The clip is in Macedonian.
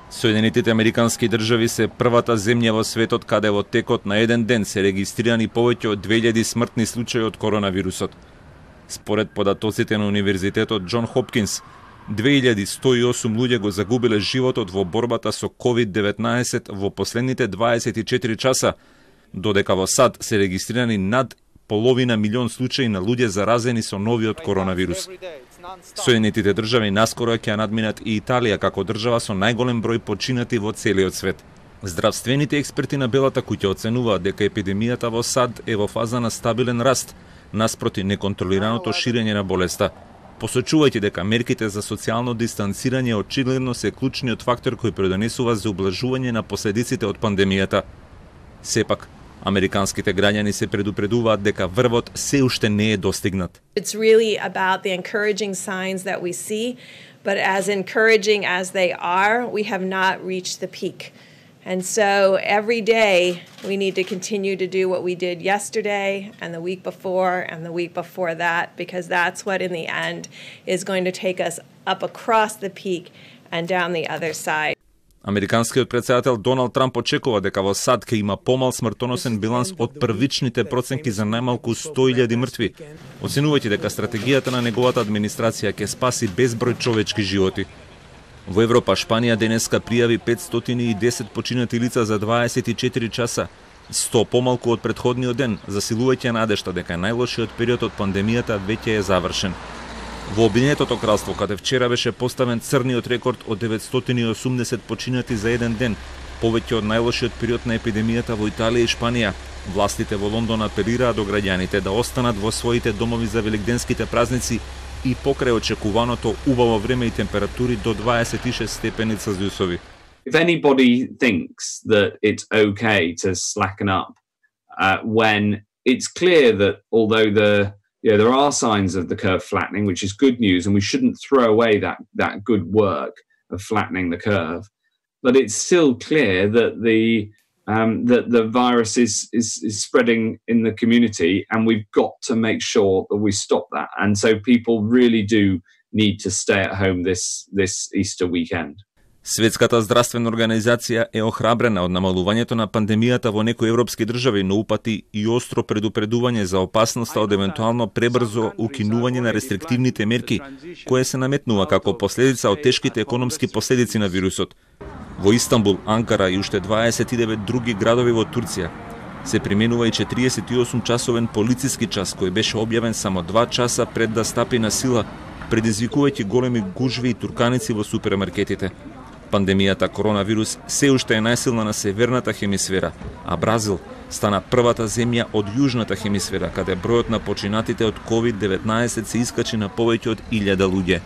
Соединетите Американски држави се првата земја во светот каде во текот на еден ден се регистрирани повеќе од 2000 смртни случаи од коронавирусот. Според податоците на Универзитетот Џон Хопкинс, 2108 луѓе го загубиле животот во борбата со COVID-19 во последните 24 часа, додека во САД се регистрирани над половина милион случаи на луѓе заразени со новиот коронавирус. Соединетите држави наскоро ќе надминат и Италија како држава со најголем број починати во целиот свет. Здравствените експерти на Белата куќа оценуваат дека епидемијата во САД е во фаза на стабилен раст, наспроти неконтролираното ширење на болеста, посочувајќи дека мерките за социјално дистанцирање очигледно се клучниот фактор кој предонесува за ублажување на последиците од пандемијата. Сепак, американските граѓани се предупредуваат дека врвот се уште не е достигнат. It's really about the encouraging signs that we see, but as encouraging as they are, we have not reached the peak. And so every day we need to continue to do what we did yesterday and the week before and the week before that, because that's what in the end is going to take us up across the peak and down the other side. Американскиот претседател Доналд Трамп очекува дека во САД ќе има помал смртоносен биланс од првичните проценки за најмалку 100.000 мртви, оценувајќи дека стратегијата на неговата администрација ќе спаси безброј човечки животи. Во Европа, Шпанија денеска пријави 510 починати лица за 24 часа, 100 помалку од претходниот ден, засилувајќи надежта дека најлошиот период од пандемијата веќе е завршен. Во Обединетото кралство, каде вчера беше поставен црниот рекорд од 980 починати за еден ден, повеќе од најлошиот период на епидемијата во Италија и Шпанија, властите во Лондон апелираа до граѓаните да останат во своите домови за великденските празници и покрај очекуваното убаво време и температури до 26 степени Целзиусови. If anybody thinks that it's okay to slacken up when it's clear that although there are signs of the curve flattening, which is good news, and we shouldn't throw away that good work of flattening the curve, but it's still clear that the virus is spreading in the community, and we've got to make sure that we stop that. And so people really do need to stay at home this Easter weekend. Светската здравствена организација е охрабрена од намалувањето на пандемијата во некои европски држави, но упати и остро предупредување за опасноста од евентуално пребрзо укинување на рестриктивните мерки, кое се наметнува како последица од тешките економски последици на вирусот. Во Истанбул, Анкара и уште 29 други градови во Турција се применува и 48-часовен полициски час, кој беше објавен само 2 часа пред да стапи на сила, предизвикувајќи големи гужви и турканици во супермаркетите. Пандемијата коронавирус се уште е најсилна на северната хемисфера, а Бразил стана првата земја од јужната хемисфера, каде бројот на починатите од COVID-19 се искачи на повеќе од 1000 луѓе.